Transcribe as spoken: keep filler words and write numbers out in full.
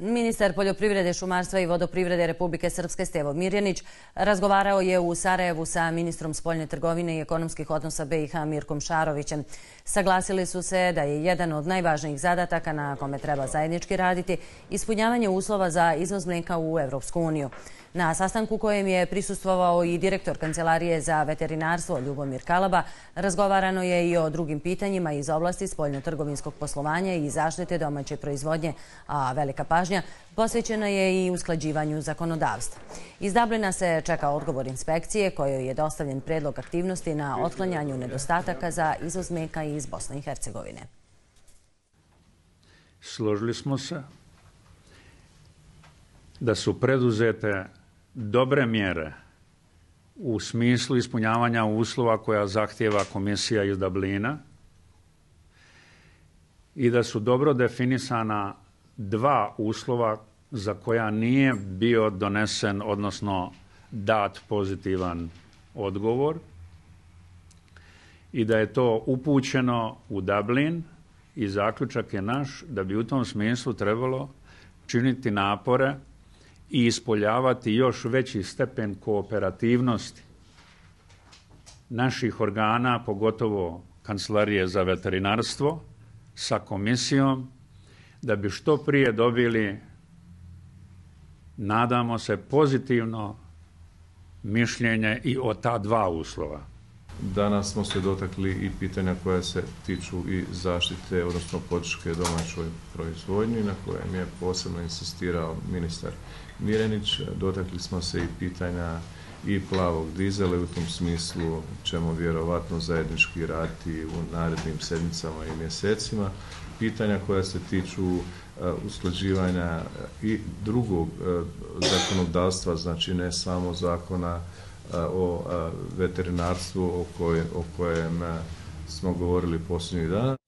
Ministar poljoprivrede, šumarstva i vodoprivrede Republike Srpske Stevo Mirjanić razgovarao je u Sarajevu sa ministrom spoljne trgovine i ekonomskih odnosa B i H Mirkom Šarovićem. Saglasili su se da je jedan od najvažnijih zadataka na kome treba zajednički raditi ispunjavanje uslova za izvoz mlijeka u Evropsku uniju. Na sastanku kojem je prisustvovao i direktor Kancelarije za veterinarstvo Ljubomir Kalaba, razgovarano je i o drugim pitanjima iz oblasti spoljno-trgovinskog poslovanja i zaštite domaće proizvodnje, a velika pažnja posvećena je i usklađivanju zakonodavstva. Iz Dublina se čeka odgovor inspekcije kojoj je dostavljen predlog aktivnosti na otklanjanju nedostataka za izvoz mlijeka iz Bosne i Hercegovine. Složili smo se da su preduzete dobre mjere u smislu ispunjavanja uslova koja zahtijeva komisija iz Dublina i da su dobro definisana dva uslova za koja nije bio donesen, odnosno dat pozitivan odgovor i da je to upućeno u Dublin i zaključak je naš da bi u tom smislu trebalo činiti napore i ispoljavati još veći stepen kooperativnosti naših organa, pogotovo Kancelarije za veterinarstvo, sa komisijom, da bi što prije dobili, nadamo se, pozitivno mišljenje i o ta dva uslova. Danas smo se dotakli i pitanja koja se tiču i zaštite, odnosno podrške domaćoj proizvodnji, na kojem je posebno insistirao ministar Mirjanić. Dotakli smo se i pitanja i plavog dizela i u tom smislu ćemo vjerovatno zajednički raditi u narednim sedmicama i mjesecima. Pitanja koja se tiču uh, usklađivanja i drugog uh, zakonodavstva, znači ne samo zakona uh, o uh, veterinarstvu o kojem, o kojem uh, smo govorili posljednjih dana.